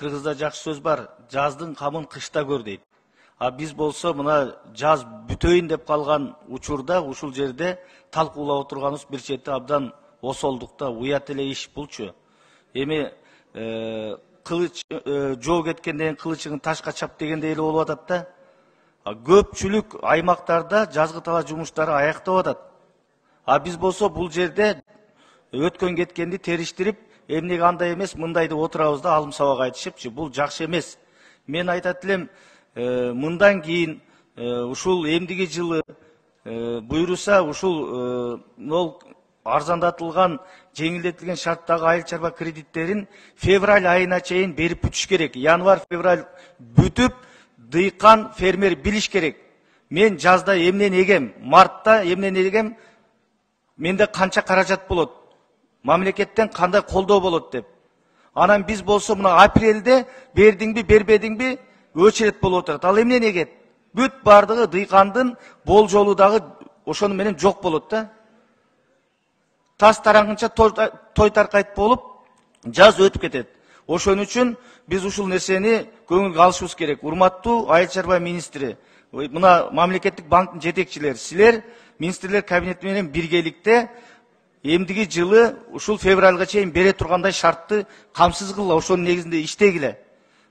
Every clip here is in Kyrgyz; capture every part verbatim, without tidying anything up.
Кыргызда жакшы сөз бар, жаздын камын кышта көр дейт. А биз болсо мына жаз бүтөйүн деп калган учурда ушул жерде талкуулап отурганыбыз бир чети абдан осолдукта, уят эле иш булчу. Эми кылыч жоо кеткенден кылычыңын ташка чап дегендей эле болуп атат да. Көпчүлүк аймактарда жазгы талаа жумуштары аяктап атат. А биз болсо бул жерде өткөн кеткенди териштирип, эмнеге андай эмес, мындай деп отурабыз да алым сабак айтышыпчы. Бул жакшы эмес. Мен айтат элем, мындан кийин ушул эмдиги жылы буйруса ушул арзандатылган, жеңилдетилген шарттагы айыл чарба кредиттерин февраль айына чейин берип бүтүш керек. Январь-февраль бүтүп, дыйкан, фермер билиш керек. Мен жазда эмнени эгем, мартта эмнени эгем, менде канча каражат болот, мамлекеттен кандай колдоо болот деп. Анан биз болсо мына апрелде бердиңби, бербедиңби өчүрөт болуп отурат. Ал эмнени эгет? Бүт бардыгы дыйкандын болжолу дагы ошону менен жок болот да. Тас тараңгынча той таркайт болуп, жаз өтүп кетет. Ошон үчүн биз ушул нерсени көңүлгө алышыбыз керек. Урматтуу айыл чарба министри, мына мамлекеттик банктын жетекчилери, силер министрлер кабинети менен биргеликте эмдиги жылы ушул февралга чейин бере тургандай шартты камсыз кылгыла, ошонун негизинде иштегиле.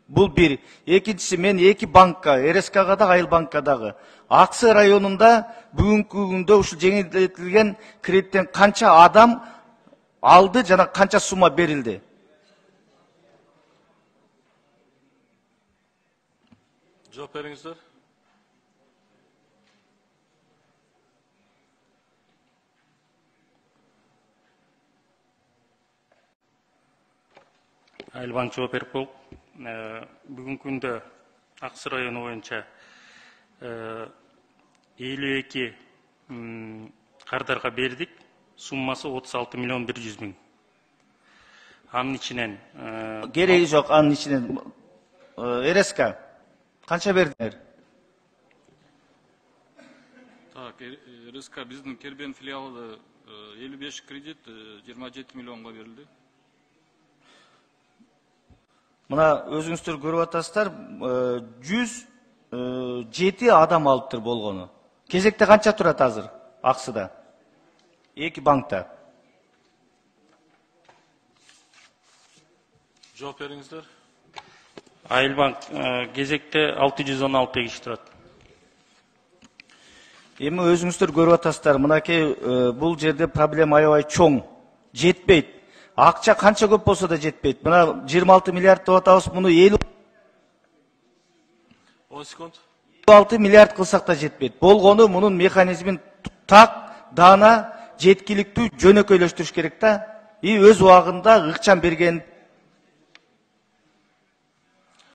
Бул бир. Экинчиси, мен эки банкка, эр эс кга дагы, Айыл банкка дагы, Аксы районунда бүгүнкү күндө ушул жеңилдетилген кредиттен канча адам алды жана канча сумма берилди? Жооп бериңиздер. Айыл банк жооп берип болуп, бүгүнкү күндө Аксы району боюнча элүү эки кардарга бердик, суммасы отуз алты миллион бир жүз миң. Анын ичинен кереги жок, анын ичинен эр эс ка канча бердиңер? Так, эр эс ка биздин Кербен филиалы элүү беш кредит жыйырма жети миллионго берилди. Мына өзүңүздөр көрүп атасыздар, жүз жети адам алыптыр болгону. Кезекте канча турат азыр Аксыда? Эки банкта. Жооп бериңиздер. Айыл банк кезекте алты жүз он алты киши турат. Эми өзүңүздөр көрүп атасыздар, мынакей бул жерде проблема аябай чоң, жетпейт. Акча канча көп болсо да жетпейт. Мына жыйырма алты миллиард деп атабыз, муну элүү он секунд. элүү алты миллиард кылсак да жетпейт. Болгону мунун механизмин так, дана, жеткиликтүү жөнөкөйлөштүрүш керек да. И өз убагында ыкчам берген